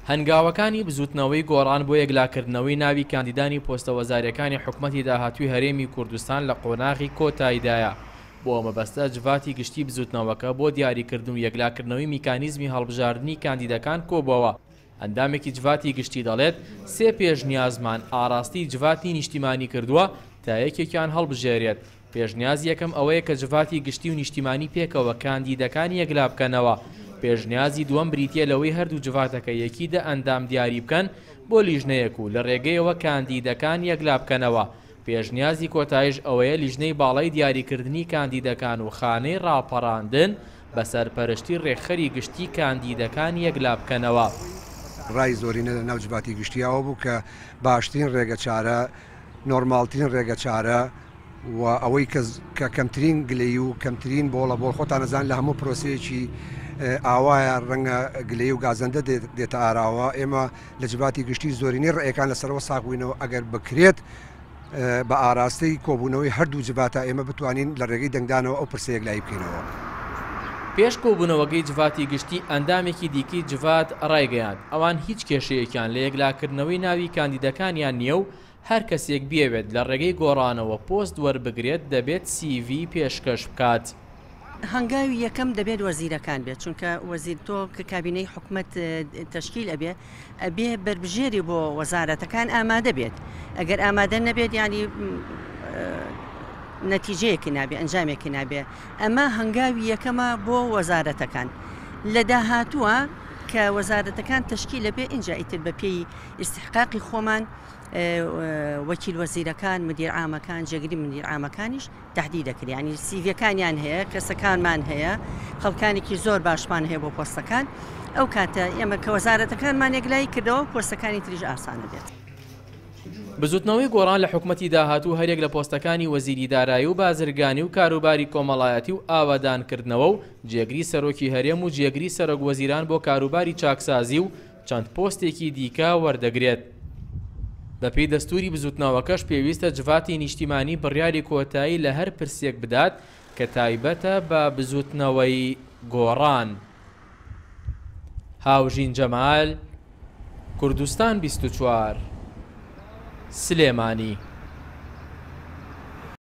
هەنگاوەکانی بزووتنەوەی گۆڕان بۆ یەکلاکردنەوەی ناوی کاندیدانی پۆستە وەزارییەکانی حکومەتی داهاتووی هەرێمی کوردستان لە قۆناغی کۆتاییدایە، بۆ ئەو مەبەستە جڤاتی گشتی بزووتنەوەکە بۆ دیاریکردن و یەکلاکردنەوەی میکانیزمی هەڵبژاردنی کاندیدەکان کۆبووەوە. ئەندامێکی جڤاتی گشتی دەڵێت، سێ پێشنیازمان ئاراستەی جڤاتی نیشتیمانی کردووە تا یەکێکیان هەڵبژێرێت، پێشنیازی یەکەم ئەوەیە کە جڤاتی گشتی و نیشتیمانی پێکەوە کاندیدەکان یەکلا بکەنەوە، پێشنیازی دووەم بریتییە لەوەی هەردوو جڤاتەکە یەکی دە ئەندام دیاری بکەن بۆ لیژنەیەک و لە رێگەیەوە کاندیدەکان یەکلا بکەنەوە، پێشنیازی کۆتایش ئەوەیە لیژنەی باڵای دیاریکردنی کاندیدەکان و خانەی راپەڕاندن بە سەرپەرشتی رێکخەری گشتی کاندیدەکان یەکلا بکەنەوە. رای زۆرینە لە ناو جڤاتی گشتی ئەوە بوو کە باشترین رێگەچارە، نۆرماڵترین رێگەچارە و ئەوەی کە کە کەمترین گلەیی و کەمترین بۆڵە بۆڵ خۆتان ئەزانن لە هەموو پرۆسەیەکی ئاوایە رەنگە گلەیی و گازەندە دێتە ئاراوە ئێمە لە جڤاتی گشتی زۆرینەی ڕێیەکان لەسەرەوە ساغ بووینەوە ئەگەر بکرێت بە ئاراستەی کۆبوونەوەی هەردوو جڤاتە ئێمە بتوانین لە ڕێگەی دەنگدانەوە ئەو پرسە یەکلایی بکەینەوە. پێش کۆبوونەوەکەی جڤاتی گشتی ئەندامێکی دیکەی جڤات ڕایگەیاند، ئەوان هیچ کێشەیەکیان لە یەکلاکردنەوەی ناوی کاندیدەکانیان نییە و هەر کەسێک بیەوێت لە ڕێگەی گۆڕانەوە پۆست وەربگرێت دەبێت سیڤی پێشکەش بکات. هەنگاوی یەکەم دەبێت وەزیرەکان بێت چونکە وەزیر تۆ کە کابینەی حکومەت تەشکیل ئەبێ ئەبێ بەربژێری بۆ وەزارەتەکان ئامادە بێت ئەگەر ئامادە نەبێت ینی نەتیجەیەکی نابێ ئەنجامێکی نابێ ئەمە هەنگاوی یەکەمە بۆ وەزارەتەکان لە داهاتووە کە وەزارەتەکان تەشکیل لەبێ ئینجا ئیتر بە پێی ئیستحقاقی خۆمان وەکیل وەزیرەکان مدیر عامەکان جێگری مدیر عامەکانیش تەهدید دەکرێت یانی سیڤیەکانیان هەیە کەسەکانمان هەیە خەڵکانێکی زۆر باشمان هەیە بۆ پۆستەکان ئەو کاتە ئێمە کە وەزارەتەکانمان یەکلایی کردەوە پۆستەکانی تریش ئاسانە بێت. بزوتنەوەی گۆڕان لە حکومەتی داهاتوو هەریەک لە پۆستەکانی وەزیری دارایی و بازرگانی و کاروباری کۆمەڵایەتی و ئاوەدانکردنەوە و جێگری سەرۆکی هەرێم و جێگری سەرۆک وەزیران بۆ کاروباری چاکسازی و چەند پۆستێکی دیکە وەردەگرێت. بەپێی دەستووری بزووتنەوەکەش پێویستە جڤاتی نیشتیمانی بڕیاری کۆتایی لە هەر پرسێک بدات کە تایبەتە بە بزووتنەوەی گۆڕان. هاوژین جەمال، کوردستان 24، سلێمانی.